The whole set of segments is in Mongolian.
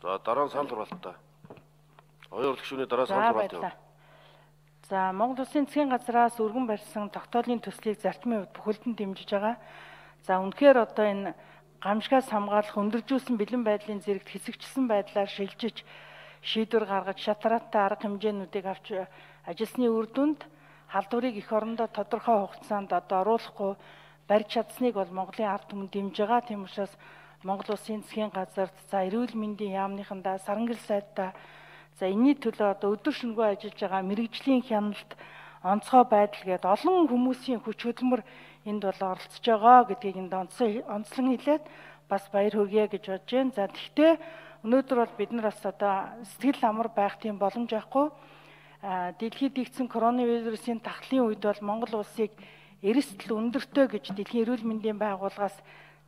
За дараа нь санал хураалтаа. Оюун гишүүний дараа санал хураалт. За Монгол Улсын засгийн газраас өргөн барьсан тогтоолын төслийг зарчмын хувьд бүхэлдэн дэмжиж байгаа. За үнэхээр одоо энэ гамшигаас хамгаалах өндөржүүлсэн бэлэн байдлын зэрэгт хэсэгчилсэн байдлаар шилжиж шийдвэр гаргаж шатраатай арга хэмжээнүүдийг авч ажилласны үр дүнд халдварыг эх орондоо тодорхой хугацаанд одоо оруулахгүй барьж чадсныг бол Монголын ард түмэн дэмжиж байгаа. Тийм учраас Монгол Улсын засгийн газарт за эрүүл мэндийн яамныхандаа сарангэл сайдтай за энэний төлөө одоо өдөр шөнөгүй ажиллаж байгаа мэрэгжлийн хяналт онцгой байдал гээд олон хүмүүсийн хүч хөдөлмөр энд бол оролцож байгаа гэдгийг энд онцлон хэлээд бас баяр хүргэе гэж бодож байна. За тэгвэл өнөөдөр бол бид нар бас одоо сэтгэл амар байх тийм боломж байхгүй. Дэлхийд игдсэн коронавирусын тахлын үед бол Монгол улсыг эрсдэл өндөртэй гэж дэлхийн эрүүл мэндийн байгууллагаас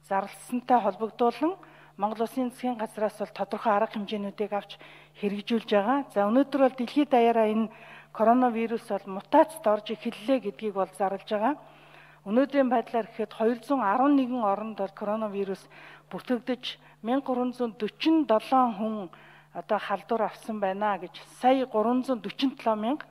зарласантай холбогдуулан Монгол Улсын засгийн газраас бол тодорхой арга хэмжээнүүдийг авч хэрэгжүүлж байгаа. За өнөөдөр бол дэлхийд даяараа энэ коронавирус бол мутацид орж эхэллээ гэдгийг бол зарлж байгаа. Өнөөдрийн байдлаар гэхэд 211 оронд бол коронавирус бүртгэгдэж 1347 хүн одоо халдвар авсан байна гэж сая 347 мянга.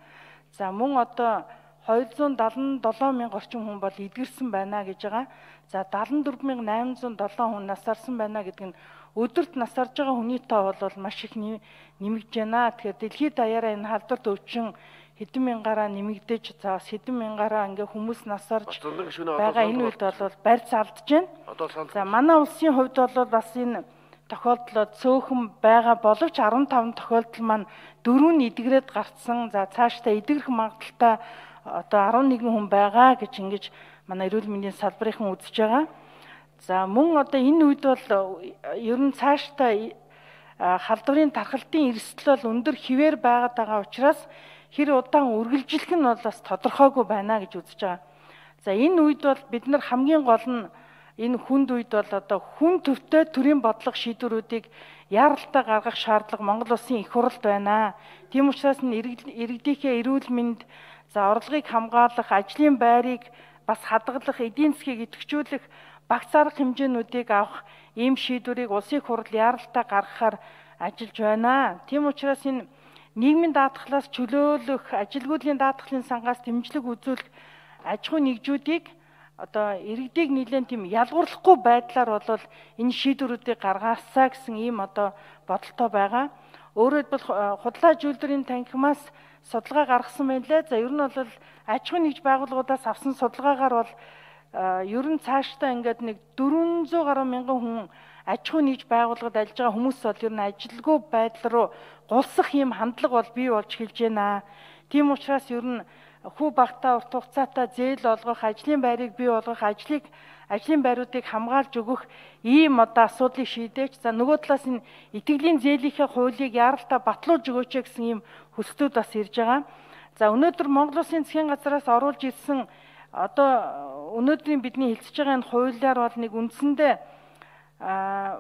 За мөн одоо 277 мянга орчим хүн бол эдгэрсэн байна гэж байгаа. За 74807 хүн насарсан байна гэдэг нь өдөрт насарж байгаа хүний тоо бол маш их нэмэгдэж байна. Тэгэхээр дэлхийд даяараа энэ халдварт өвчин хэдэн мянгаараа нэмэгдэж за хэдэн мянгаараа ингээ хүмүүс насарж байгаа энэ үед бол барьц алдж байна. За манай улсын хувьд бол бас энэ тохиолдлоо цөөхөн байгаа боловч 15 тохиолдол маань 4 эдгрээд гарцсан. За цаашдаа эдгэрэх магадaltaй одоо 11 хүн байгаа гэж ингэж манай эрүүл мэндийн салбарынхан үзэж байгаа. За мөн одоо энэ үед бол ер нь цаашдаа халдварын тархалтын эрсдэл бол өндөр хിവэр байгаад байгаа учраас хэр удаан үргэлжлэх нь бол бас тодорхойгүй байна гэж үзэж байгаа. За энэ үед бол бид нар хамгийн гол нь энэ хүнд үед бол одоо хүн төвтэй төрийн бодлого шийдвэрүүдийг яаралтай гаргах шаардлага Монгол Улсын их хурлд байна. Тийм учраас иргэдийнхээ эрүүл мэнд за орлогыг хамгаалах, ажлын байрыг бас хадгалах, эдийн засгийг идэвхжүүлэх багц арга хэмжээнүүдийг авах ийм шийдвэрийг улсын их хурл яаралтай гаргахаар ажиллаж байна. Тийм учраас энэ нийгмийн даатгалаас чөлөөлөх, ажилгүйдлийн даатгалын сангаас дэмжлэг үзүүлэх аж ахуй нэгжүүдийг одоо иргэдийг нэлээд тийм ялгуурлахгүй байдлаар бол энэ шийдвэрүүдийг гаргаасаа гэсэн ийм одоо бодолтой байгаа. Өөрөөр хэлбэл худлаа зүйлдвэрийн танхимаас судалгаа гаргасан байлээ. За ер нь бол аж ахуй нэгж байгууллагуудаас авсан судалгаагаар бол ер нь цаашдаа ингээд нэг 400 гаруй мянган хүн аж ахуй нэгж байгууллагад ажиллаж байгаа хүмүүс бол ер нь ажилгүй байдал руу гулсах ийм хандлага бол бий болж эхэлж байна. Тийм учраас ер нь хүү багтаа урт хугацаатай зээл олгох, ажлын байрыг бий болгох, ажлын байруудыг хамгаалж өгөх ийм одоо асуудлыг шийдэж, за нөгөө талаас энэ итгэлийн зээлийнхээ хуулийг яаралтай батлуулж өгөөч гэсэн ийм хүсэлтүүд бас ирж байгаа. За өнөөдөр Монгол Улсын засгийн газраас оруулж ирсэн одоо өнөөдрийн бидний хэлцэж байгаа энэ хуулиар бол нэг үндсэндээ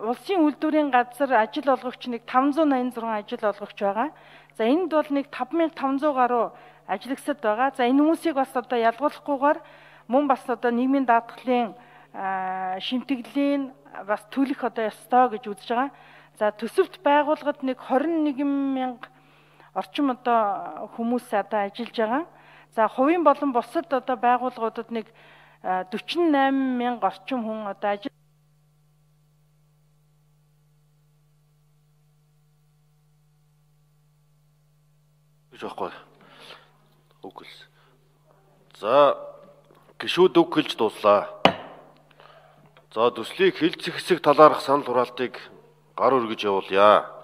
улсын үйлдвэрийн газар ажил олгогч нэг 586 ажил олгогч байгаа. За энд бол нэг 5500 гаруй ажиглагчид байгаа. За энэ хүмүүсийг бас одоо ялгуулахгүйгээр мөн бас одоо нийгмийн даатгалын шимтгэлийн бас төлөх одоо ёстой гэж үзэж байгаа. За төсөвт байгууллагад нэг 21 мянга орчим одоо хүмүүс одоо ажиллаж байгаа. За хувийн болон бусад одоо байгууллагуудад нэг 48 мянга орчим хүн одоо ажил жоохгүй үг хэл. За гишүүд үг хэлж дууслаа. За төслийг хэлцэх хэсэг талаарх санал хураалтыг гар өргөж явуулъя.